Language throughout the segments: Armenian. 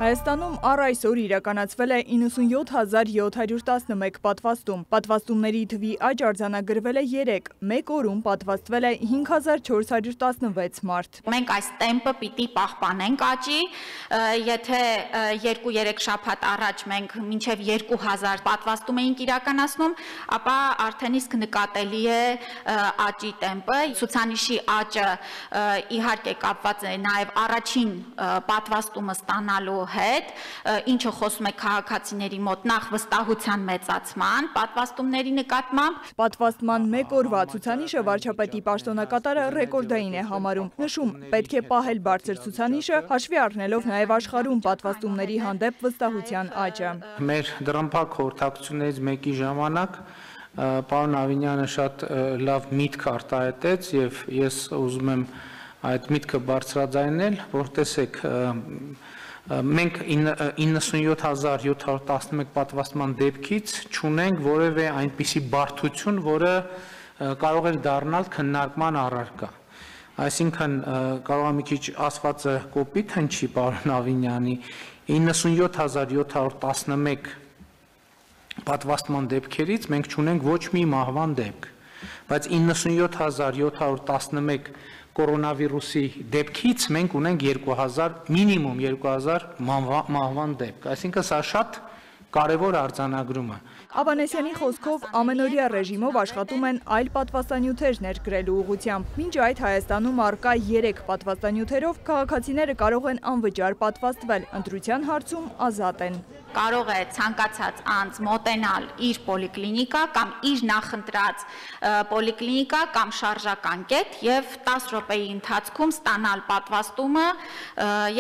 Հայաստանում առ այսօր իրականացվել է 97,711 պատվաստում։ Պատվաստումների թվի աճ արձանագրվել է 3, մեկ օրում պատվաստվել է 5416 մարդ։ Մենք այս տեմպը պիտի պահպանենք աճի, եթե 2-3 շաբաթ առաջ մենք մինչև 2000 պատվաստում էինք իրականացնում, ապա արդեն իսկ նկատելի է աճի տեմպը։ Ցուցանիշի աճը իհարկե կապված է նաև առաջին պատվաստումը ստանալու հետ, ինչը խոսում է քաղաքացիների մոտ նախ վստահության մեծացման, պատվաստումների նկատմամբ։ Պատվաստման մեկ օրվա ցուցանիշը վարչապետի պաշտոնակատարը ռեկորդային է համարում։ Նշում, պետք է պահել բարձր ցուցանիշը, հաշվի առնելով նաև աշխարհում պատվաստումների հանդեպ վստահության աճը։ Մեր դռնփակ խորհրդակցություններից մեկի ժամանակ պարոն Ավինյանը շատ լավ միտք արտահայտեց եւ ես ուզում եմ այդ միտքը բարձրաձայնել, որ տեսեք, մենք 97711 պատվաստման դեպքից չունենք որևէ այնպիսի բարդություն, որը կարող է դառնալ քննարկման առարկա։ Այսինքն կարող է մի քիչ ասվածը կոպիտ հնչի պարոն Ավինյանի, 97711 պատվաստման դեպքերից մենք չունենք ոչ մի մահվան դեպք, բայց 97711 կորոնավիրուսի դեպքից մենք ունենք 2000, մինիմում 2000 մահվան դեպք, այսինքն սա շատ կարևոր արձանագրում է։ Ավանեսյանի խոսքով ամենօրյա ռեժիմով աշխատում են այլ պատվաստանյութեր ներկրելու ուղղությամբ։ Մինչ այդ Հայաստանում առկա 3 պատվաստանյութերով քաղաքացիները կարող են անվճար պատվաստվել, ընտրության հարցում ազատ են։ Կարող է ցանկացած անձ մոտենալ իր պոլիկլինիկա կամ իր նախընտրած պոլիկլինիկա կամ շարժական կետ եւ 10 րոպեի ընթացքում ստանալ պատվաստումը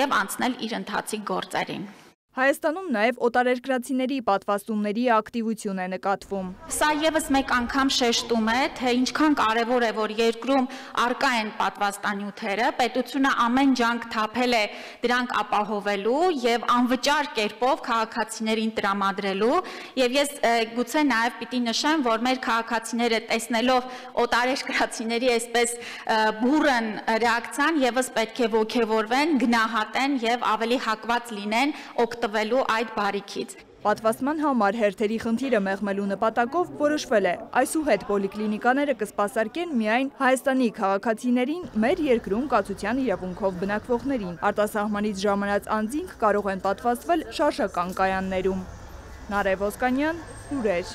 եւ անցնել իր ընթացիկ գործերին։ Հայաստանում նաև օտարերկրացիների պատվաստումների ակտիվություն է նկատվում։ Սա եւս մեկ անգամ շեշտում է, թե ինչքան կարևոր է, որ երկրում առկա են պատվաստանյութերը, պետությունը ամեն ջանք թափել է դրանք ապահովելու եւ անվճար կերպով քաղաքացիներին տրամադրելու, եւ ես գուցե նաև պիտի նշեմ, որ մեր քաղաքացիները տեսնելով օտարերկրացիների այսպես բուրըն ռեակցիան եւս պետք է ոգևորվեն, գնահատեն եւ ավելի հակված լինեն տվելու այդ բարիքից։ Պատվաստման համար հերթերի խնդիրը մեղմելու նպատակով որոշվել է այսուհետ պոլիկլինիկաները կսպասարկեն միայն Հայաստանի քաղաքացիներին, մեր երկրում կացության իրավունքով բնակվողներին։ Արտասահմանից ժամանած անձինք կարող են պատվաստվել շարժական կայաններում։ Նարեկ Ոսկանյան, լուրեր։